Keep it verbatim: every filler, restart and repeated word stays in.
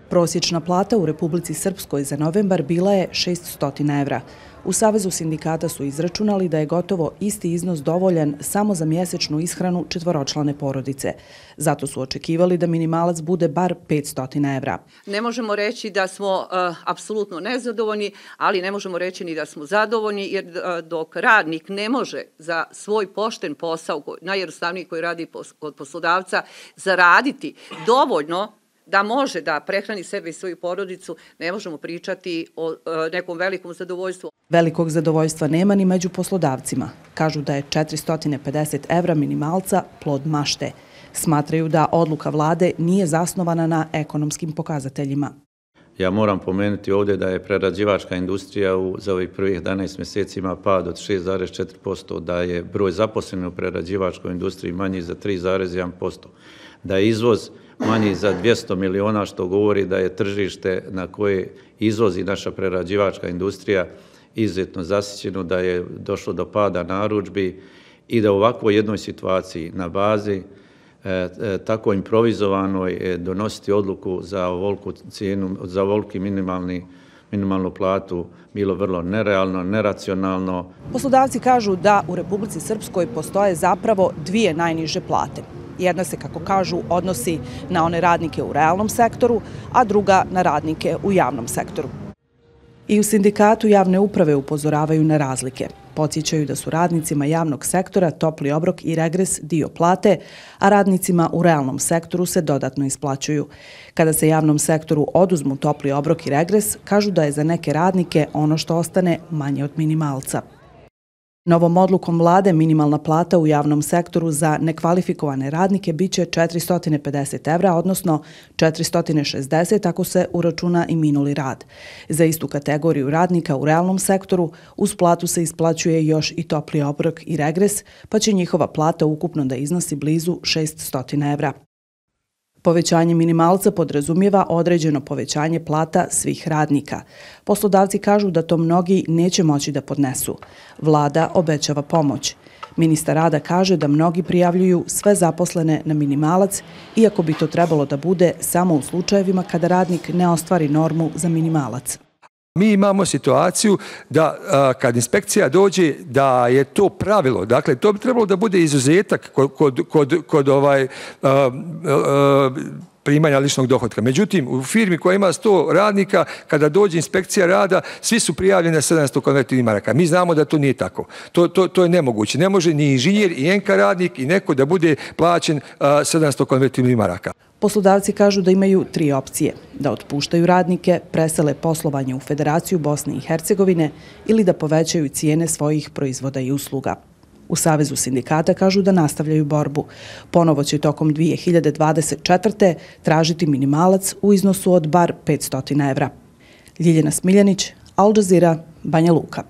Prosječna plata u Republici Srpskoj za novembar bila je šessto evra. U Savezu sindikata su izračunali da je gotovo isti iznos dovoljan samo za mjesečnu ishranu četvoročlane porodice. Zato su očekivali da minimalac bude bar petsto evra. Ne možemo reći da smo uh, apsolutno nezadovoljni, ali ne možemo reći ni da smo zadovoljni, jer uh, dok radnik ne može za svoj pošten posao, najjednostavniji koji radi kod poslodavca, zaraditi dovoljno da može da prehrani sebe i svoju porodicu, ne možemo pričati o e, nekom velikom zadovoljstvu. Velikog zadovoljstva nema ni među poslodavcima. Kažu da je četiristo pedeset evra minimalca plod mašte. Smatraju da odluka vlade nije zasnovana na ekonomskim pokazateljima. Ja moram pomenuti ovdje da je prerađivačka industrija u, za ovih prvih jedanaest mjeseci ima pad od šest zarez četiri posto, da je broj zaposlenih u prerađivačkoj industriji manji za tri zarez jedan posto, da je izvoz manji za dvjesto miliona, što govori da je tržište na koje izvozi naša prerađivačka industrija izuzetno zasićeno, da je došlo do pada narudžbi i da u ovakvoj jednoj situaciji na bazi e, e, tako improvizovanoj e, donositi odluku za ovoliku cijenu, za ovoliki minimalni minimalnu platu bilo vrlo nerealno, neracionalno. Poslodavci kažu da u Republici Srpskoj postoje zapravo dvije najniže plate. Jedna se, kako kažu, odnosi na one radnike u realnom sektoru, a druga na radnike u javnom sektoru. I u sindikatu javne uprave upozoravaju na razlike. Podsjećaju da su radnicima javnog sektora topli obrok i regres dio plate, a radnicima u realnom sektoru se dodatno isplaćuju. Kada se javnom sektoru oduzmu topli obrok i regres, kažu da je za neke radnike ono što ostane manje od minimalca. Novom odlukom vlade minimalna plata u javnom sektoru za nekvalifikovane radnike biće četiristo pedeset evra, odnosno četiristo šezdeset ako se uračuna i minuli rad. Za istu kategoriju radnika u realnom sektoru uz platu se isplaćuje još i topli obrok i regres, pa će njihova plata ukupno da iznosi blizu šeststo evra. Povećanje minimalca podrazumijeva određeno povećanje plata svih radnika. Poslodavci kažu da to mnogi neće moći da podnesu. Vlada obećava pomoć. Ministar rada kaže da mnogi prijavljuju sve zaposlene na minimalac, iako bi to trebalo da bude samo u slučajevima kada radnik ne ostvari normu za minimalac. Mi imamo situaciju da kad inspekcija dođe da je to pravilo, dakle to bi trebalo da bude izuzetak kod, kod, kod, kod ovaj, uh, uh, primanja ličnog dohotka. Međutim, u firmi koja ima sto radnika, kada dođe inspekcija rada, svi su prijavljeni na sedamsto konvertibilnih maraka. Mi znamo da to nije tako. To, to, to je nemoguće. Ne može ni inženjer, i enka radnik, i neko da bude plaćen uh, sedamsto konvertibilnih maraka. Poslodavci kažu da imaju tri opcije: da otpuštaju radnike, presele poslovanje u Federaciju Bosne i Hercegovine ili da povećaju cijene svojih proizvoda i usluga. U Savezu sindikata kažu da nastavljaju borbu. Ponovo će tokom dvije hiljade dvadeset četvrte tražiti minimalac u iznosu od bar petsto evra. Ljiljana Smiljanić, Al Jazeera, Banja Luka.